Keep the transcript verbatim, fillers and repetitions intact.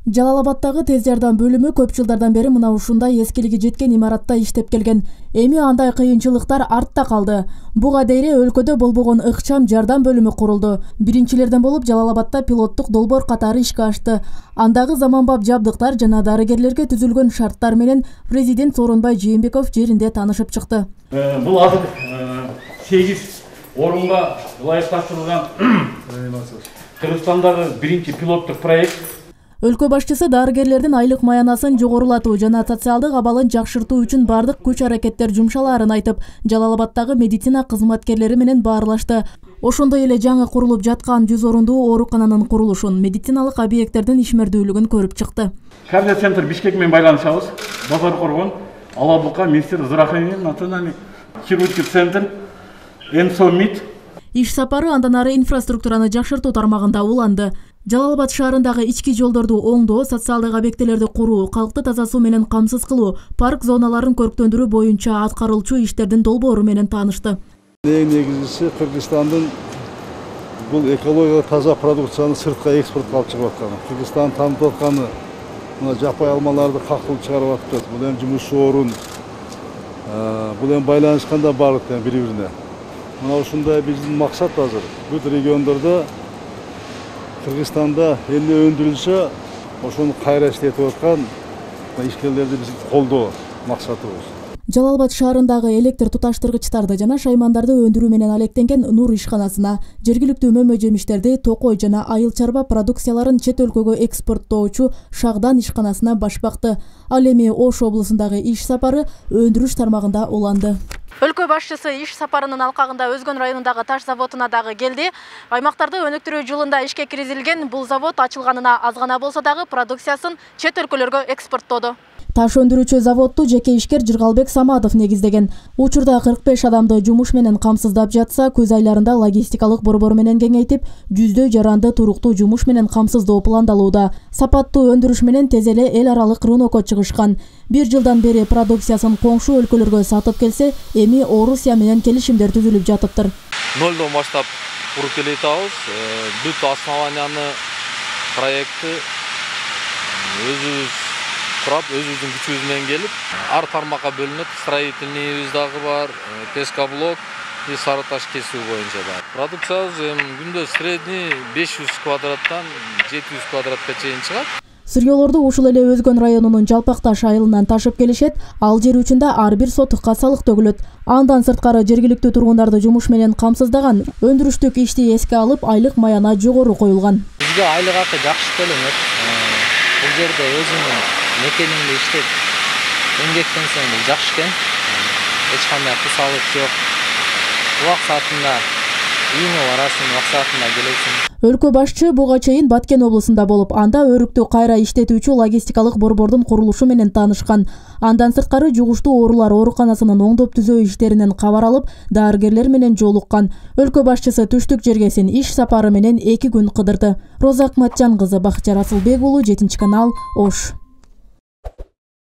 Жалал Абадтагы тез жардам бөлүмү көп жылдардан бери мына ушундай эскилиги жеткен имаратта иштеп келген. Эми андай кыйынчылыктар артта калды. Буга дейре өлкөдө болбогон ыкчам жардам бөлүмү курулду. Биринчилерден болуп Жалал Абадта пилоттук долбоор катары ишке ашты. Андагы заманбап жабдыктар жана дарыгерлерге түзүлгөн шарттар менен президент Сооронбай Жээнбеков жеринде таанышып чыкты. Бул азыр сегиз орунга ылайыкташтырылган Кыргызстандагы биринчи пилоттук проект. Өлкө башчысы дарыгерлердин айлык маянасын жогорулатуу жана социалдык абалын жакшыртуу үчүн бардык күч-аракеттер жумшалаарын айтып, Жалал Абадтагы медицина кызматкерлери менен баарлашты. Ошондой эле жаңы курулуп жаткан жүз орундуу оорукананын курулушун, медициналык объекттердин ишмердүүлүгүн көрүп чыкты. Кардиоцентр Бишкек менен байланышабыз. Базар Коргон, Алабука, Министр здравоохранения, национальный хирургический центр, Энсомид. Иш сапары андан ары инфраструктураны жакшыртуу тармагында уланды. Жалал Абад шаарындагы ички жолдорду оңдоо, социалдык объектилерди куруу, калкты таза суу менен камсыз кылуу, парк зоналарын көрктөндүрүү боюнча аткарылчу иштердин долбоору менен таанышты. Эң негизгиси Кыргызстандын бул экологиялык таза продукцияны сыртка экспортко алып чыгып атканы. Кыргызстан таанытып атканы мына жапай алмаларды какылып чыгарып атты. Бул эми жумуш орун, бул эми байланышканда баардык бири-бирине. Мына ушундай биздин максат азыр бүт региондордо Кыргызстанда эле өндүрүлсө, ошону кайра иштетип аткан ишкерлерди биз колдоо максатыбыз. Жалал Абад шаарындагы электр туташтыргычтарды жана шаймандарды өндүрүү менен алектенген Нур ишканасына, жергиликтүү мөмө жемиштерди, токой жана айыл чарба продукцияларын чет өлкөгө экспорттоочу Шагдан ишканасына баш бакты. Ал эми Ош облусундагы иш сапары өндүрүш тармагында уланды. Өлкө башчысы иш сапарынын алкагында Өзгөн районундагы таш заводуна дагы келди. Аймактарды өнүктүрүү жылында ишке киргизилген бул завод ачылганына аз гана болсо дагы продукциясын чет өлкөлөргө экспорттоду. Таш өндүрүүчү заводду жеке ишкер Жыргалбек Самадов негиздеген. Учурда кырк беш адамды жумуш менен камсыздап жатса, көз айларында логистикалык борбор менен кеңейтип, жүздөй жаранды туруктуу жумуш менен камсыздоо пландалууда. Сапаттуу өндүрүш менен тез эле эл аралык рынокко чыгышкан. Бир жылдан бери продукциясын коңшу өлкөлөргө сатып келсе, эми Орусия менен келишимдер түзүлүп жатыптыр. Нолдон баштап куруп келе жатабыз. Бүт основанияны, проектти өзүбүз құрап, өзіміздің күшіміз менен келіп, ар тармаққа бөлініп, строительныйыбыз дагы бар, пескоблок и сарыташ кесүү боюнча бар. Продукциябыз күндө средний беш жүз квадраттан жети жүз квадратка чейин чыгат. Сырьёолорду ушул эле Өзгөн районунун Жалпакташ айылынан ташып келишет, ал жер үчүндө ар бир сотукка салык төгүлөт. Андан сырткары жергиликтүү тургундарды жумуш менен камсыздаган, өндүрүштүк ишти эске алып, айлык маяна жогору коюлган. Бизге айлык акы жакшы төлөнөт. Бул жерде өзүмдүн мекенимде иштеп эмгектенсем бул жакшы экен. Эч кандай кысалык жок. Убак саатында үйүңө барасың, убак саатында келесиң. Өлкө башчы буга чейин Баткен облусунда болуп, анда өрүктү кайра иштетүүчү логистикалык борбордун курулушу менен таанышкан. Андан сырткары жугуштуу оорулар ооруканасынын оңдоп түзөө иштеринен кабар алып, дарыгерлер менен жолуккан. Өлкө башчысы түштүк жергесин иш сапары менен эки күн кыдырды. Роза Акматжан кызы, Бакытжан Расылбек уулу, жетинчи канал, Ош.